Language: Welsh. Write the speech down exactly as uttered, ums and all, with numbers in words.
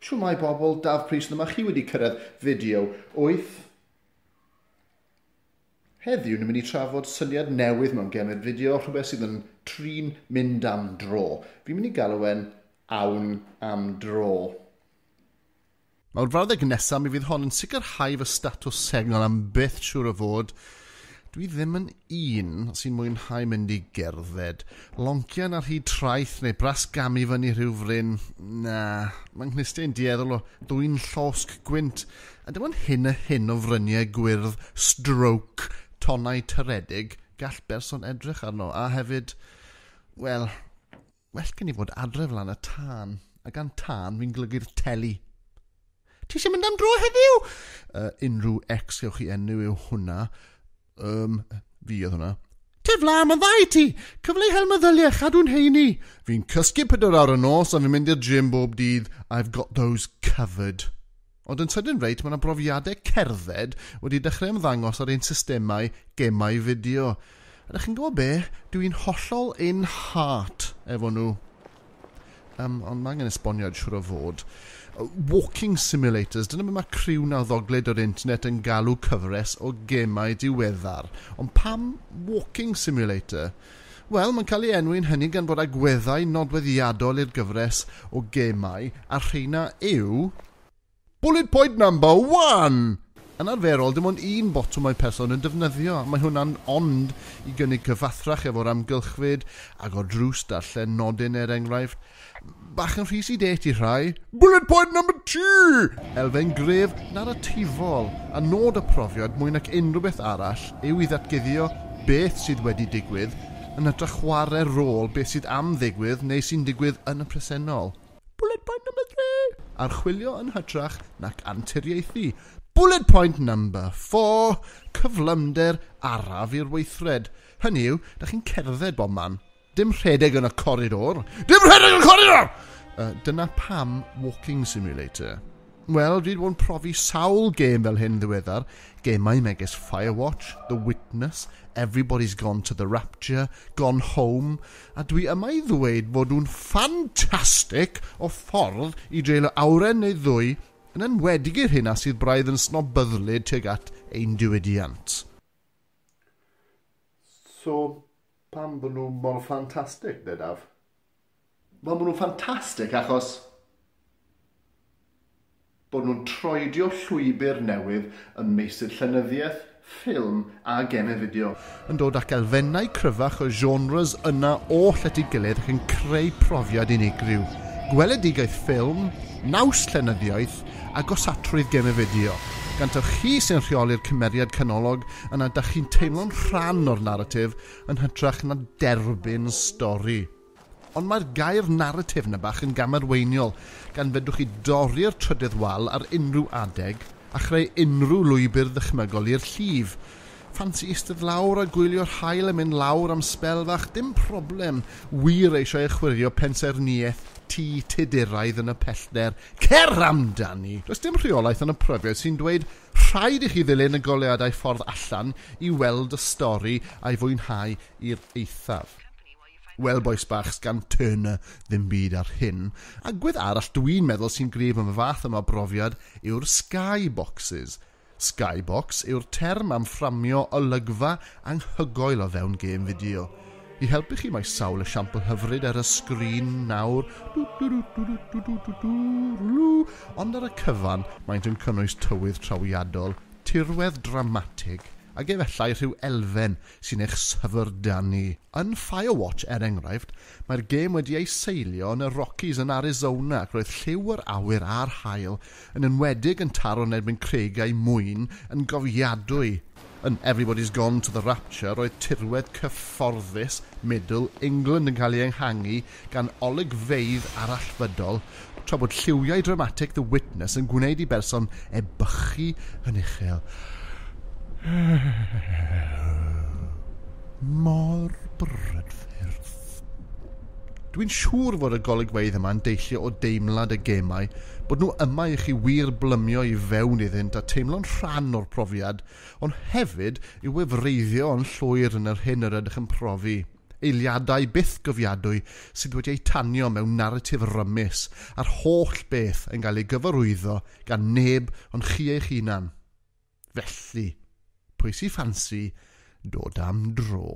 Shwmae bobl, Daf Prys yma, chi wedi cyrraedd fideo wyth. Heddiw ni'n mynd i trafod syniad newydd mewn gemau fideo, rhywbeth sydd yn trin mynd am dro. Fi'n mynd i galw e'n awn am dro. Mae'r frawddeg nesaf mi fydd hon yn sicrhau fy statws segnol am byth siŵr o fod. Dwi ddim yn un sy'n mwynhau mynd i gerdded. Loncian ar hyd traeth neu brasgamu fyny rhyw fryn. Na, mae'n nghlustiau'n dueddol o ddwyn llosg gwynt. A dim ond hyn a hyn o fryniau gwyrdd, stroke, tonnau toredig, gall berson edrych arno. A hefyd, wel, well gen i fod adref lan y tân. A gan tân fi'n golygu'r teli. Ti eisiau mynd am dro heddiw? Uh, unrhyw ex gewch chi enw yw hwnna. Um, fi oedd hwnna. Tif la, mae'n dda i ti! Cyfle i hel meddyliau, chadw'n heini. Fi'n cysgu pedwar awr y nos a fi'n mynd i'r gym bob dydd. I've got those covered. Ond yn sydyn reit, mae yna brofiadau cerdded wedi dechrau ymddangos ar ein systemau gemau fideo. A ydych chi'n gwybod be? Dwi'n hollol in heart efo nhw. Um, ond mae angen esboniad siŵr o fod. Walking simulators, dyna beth mae criw nawddoglyd o'r internet yn galw cyfres o gemau diweddar. Ond pam walking simulator? Wel, mae'n cael ei enwi'n hynny gan fod agweddau nodweddiadol i'r gyfres o gemau, a rheina yw... Bullet point number one! Yn arferol, dim ond un botwm mae person yn defnyddio. Mae hwnna'n ond i gynnig cyfathrach efo'r amgylchfyd, agor drws, darllen nodyn er enghraifft. Bach yn rhy sedate i rhai. Bullet point number two! Elfen gref naratifol, a nod y profiad mwy nac unrhyw beth arall yw i ddatguddio beth sydd wedi digwydd yn hytrach chwarae rôl beth sydd am ddigwydd neu sy'n digwydd yn y presennol. Bullet point number three! Archwilio yn hytrach nac anturiaethu. Bullet point number four! Cyflymder araf i'r weithred. Hynny yw, da chi'n cerdded bob man. Dim rhedeg yn y coridor. Dim rhedeg yn y coridor! Uh, dyna pam walking simulator. Wel, dwi wedi bod yn profi sawl gêm fel hyn ddiweddar. Gemau megis Firewatch, The Witness, Everybody's Gone to the Rapture, Gone Home, a dwi yma i ddweud fod nhw'n ffantastig o ffordd i dreulio awren neu ddwy yn enwedig i'r hynna sydd braidd yn snobyddlyd tuag at ein diwydiant. So, pam bod nhw mor ffantastig, de, Daf? Wel, maen nhw'n ffantastig achos bod nhw'n troedio llwybr newydd ym meysydd llenyddiaeth, ffilm a gemau fideo. Yn dod ac elfennau cryfach o genres yna oll at ei gilydd ac yn creu profiad unigryw. Gweledigaeth ffilm, naws llenyddiaeth a gosatrwydd gemau fideo. Gan taw chi sy'n rheoli'r cymeriad canolog, yna da chi'n teimlo'n rhan o'r naratif yn hytrach na derbyn stori. Ond mae'r gair naratif na bach yn gamarweiniol, gan fedrwch chi dorri'r trydydd wal ar unrhyw adeg a chreu unrhyw lwybr ddychmygol i'r llif. Ffansi eistedd lawr a gwylio'r haul yn mynd lawr am sbel fach, dim problem. Wir eisiau chwirio pensaernïaeth tŷ Tuduraidd yn y pellter. Cer amdani! Does dim rheolaeth yn y profiad sy'n dweud rhaid i chi ddilyn y goleuadau ffordd allan i weld y stori a'i fwynhau i'r eithaf. Wel, bois bach, sgan Turner ddim byd ar hyn. Agwedd arall dwi'n meddwl sy'n gryf am y fath yma o brofiad yw'r skyboxes. Skybox yw'r term am fframio olygfa anghygoel o fewn gêm fideo. I helpu chi mae sawl esiampl hyfryd ar y sgrin nawr, ond ar y cyfan maent yn cynnwys tywydd trawiadol, tirwedd dramatig, ac efallai rhyw elfen sy'n eich syfrdanu. Yn Firewatch, er enghraifft, mae'r gêm wedi ei seilio yn y Rockies yn Arizona ac roedd lliw yr awyr a'r haul yn enwedig yn taro yn erbyn creigiau mwyn yn gofiadwy. Yn Everybody's Gone to the Rapture, roedd tirwedd cyfforddus Middle England yn cael ei enghangu gan olygfeydd arallfydol, tra bod lliwiau dramatic The Witness yn gwneud i berson ebychu yn uchel. Mor brydferth. Dwi'n siŵr fod y golygfeydd yma'n deillio o deimlad y gemau, bod nhw yma i chi wir blymio i fewn iddynt a teimlo'n rhan o'r profiad, ond hefyd i wefreiddio yn llwyr yn yr hyn yr ydych yn profi. Eiliadau byth gofiadwy sydd wedi eu tanio mewn naratif rymus a'r holl beth yn cael ei gyfarwyddo gan neb ond chi eich hunan. Felly, pwy sy'n ffansi dod am dro?